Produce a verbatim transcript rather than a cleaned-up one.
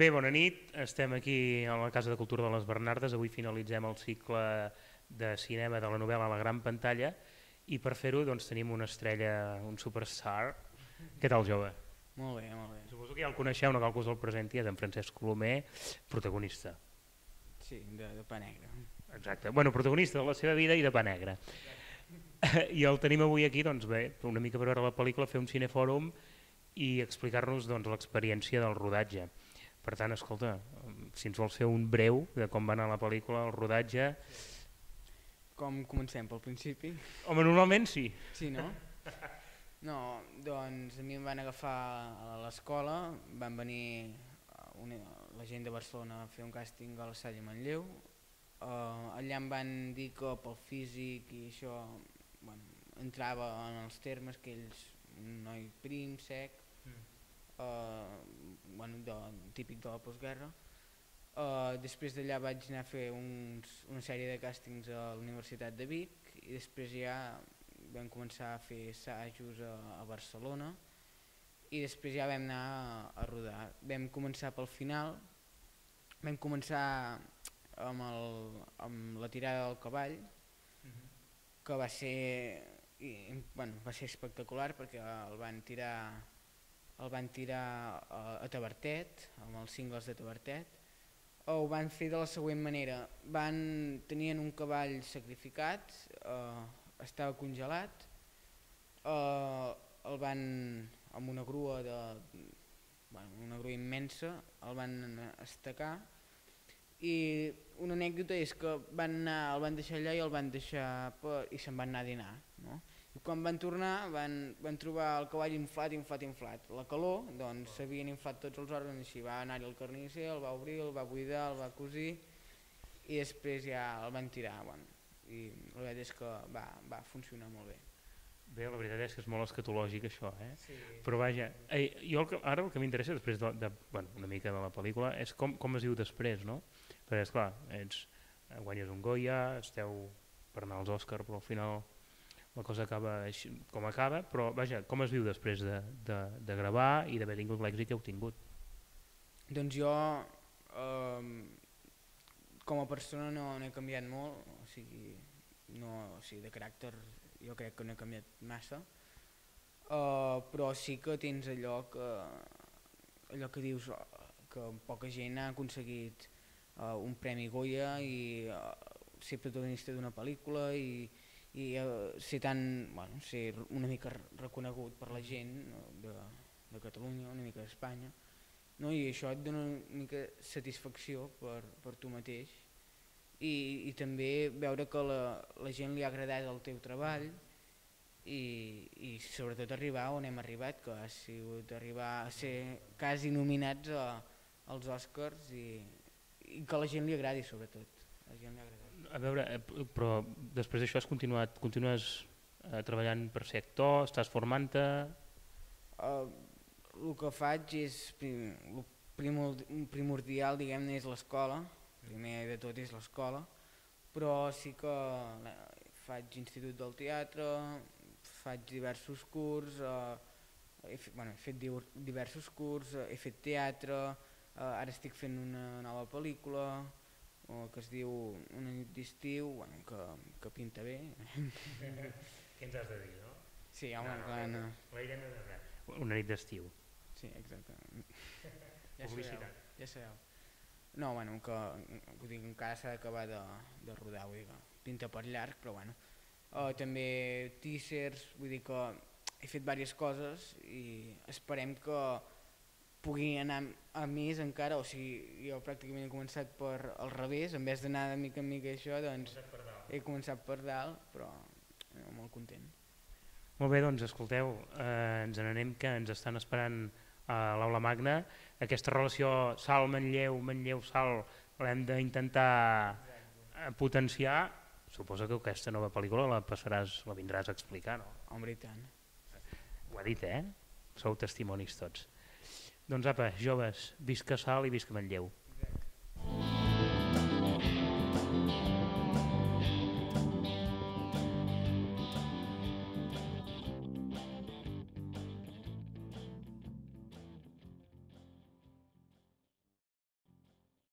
Bé, bona nit, estem aquí a la Casa de Cultura de les Bernardes, avui finalitzem el cicle de cinema de la novel·la a la gran pantalla i per fer-ho doncs, tenim una estrella, un superstar. Què tal, jove? Molt bé, molt bé. Suposo que ja el coneixeu, no cal que us el presenti, és en Francesc Colomer, protagonista. Sí, de, de pa negre. Exacte, bueno, protagonista de la seva vida i de pa negre. I el tenim avui aquí, doncs bé, una mica per veure la pel·lícula, fer un cinefòrum i explicar-nos doncs, l'experiència del rodatge. Per tant, escolta, si ens vols fer un breu de com va anar la pel·lícula, el rodatge... Com comencem, pel principi? Home, normalment sí. Sí, no? No, doncs a mi em van agafar a l'escola, van venir una, la gent de Barcelona a fer un càsting a la Salle Manlleu. Uh, allà em van dir que pel físic i això bueno, entrava en els termes que ells, un noi prim, sec, mm. uh, bueno, de, típic de la postguerra. Uh, després d'allà vaig anar a fer uns, una sèrie de càstings a la Universitat de Vic i després ja vam començar a fer assajos a, a Barcelona i després ja vam anar a, a rodar. Vam començar pel final, vam començar amb, el, amb la tirada del cavall, uh-huh. que va ser, i, bueno, va ser espectacular perquè el van tirar el van tirar a, a Tavertet, amb els cingles de Tavertet. Ho van fer de la següent manera, van, tenien un cavall sacrificat, eh, estava congelat, eh, el van, amb una grua, de, bueno, una grua immensa, el van estacar i una anècdota és que van anar, el van deixar allà i el van deixar per, i se'n van anar a dinar. No? I quan van tornar van, van trobar el cavall inflat, inflat, inflat. La calor, doncs s'havien inflat tots els òrgans, així va anar-hi el carnisser, el va obrir, el va buidar, el va cosir i després ja el van tirar. Bueno, i la veritat és que va, va funcionar molt bé. Bé, la veritat és que és molt escatològic això, eh? Sí. Però vaja, eh, jo el que, ara el que m'interessa després de, de, bueno, una mica de la pel·lícula és com, com es diu després, no? Perquè esclar, ets, guanyes un Goya, esteu per anar als Òscar, però al final la cosa acaba així, com acaba, però vaja, com es viu després de, de, de gravar i d'haver tingut l'èxit que heu tingut? Doncs jo, eh, com a persona no, no he canviat molt, o sigui, no, o sigui, de caràcter jo crec que no he canviat massa, uh, però sí que tens allò que, allò que dius que poca gent ha aconseguit uh, un premi Goya i uh, ser protagonista d'una pel·lícula i, i uh, ser, tan, bueno, ser una mica reconegut per la gent de, de Catalunya, una mica d'Espanya, no? I això et dona una mica satisfacció per, per tu mateix. I, i també veure que la, la gent li ha agradat el teu treball i, i sobretot arribar on hem arribat, que ha sigut arribar a ser quasi nominats a, als Oscars i, i que a la gent li agradi sobretot. A, la gent li ha agradat. A veure, però després d'això has continuat, continues eh, treballant per ser actor, estàs formant-te? Uh, el que faig és, el primordial diguem-ne és l'escola. Primer de tot és l'escola, però sí que faig institut del teatre, faig diversos curs, eh, he, fet, bueno, he fet diversos curs, he fet teatre, eh, ara estic fent una nova pel·lícula eh, que es diu Una nit d'estiu, bueno, que, que pinta bé. Què ens has de dir, no? Sí, home, no, clar, no. La idea no és res. Una nit d'estiu. Sí, exacte. Ja Publicitat. sabeu, ja sabeu. No, bueno, que, que dic, encara s'ha d'acabar de, de rodar, vull dir que pinta per llarg, però bueno. Uh, també teasers, vull dir que he fet diverses coses i esperem que pugui anar a més encara, o sigui, jo pràcticament he començat per al revés, en vez d'anar de mica en mica això, doncs he començat per dalt, però eh, molt content. Molt bé, doncs escolteu, eh, ens n'anem que ens estan esperant a l'Aula Magna. Aquesta relació Salt-Manlleu, Manlleu-Salt l'hem d'intentar potenciar. Suposo que aquesta nova pel·lícula la passaràs, la vindràs a explicar, no? Home, i tant. Ho ha dit, eh? Sou testimonis tots. Doncs apa, joves, visca Salt i visca Manlleu.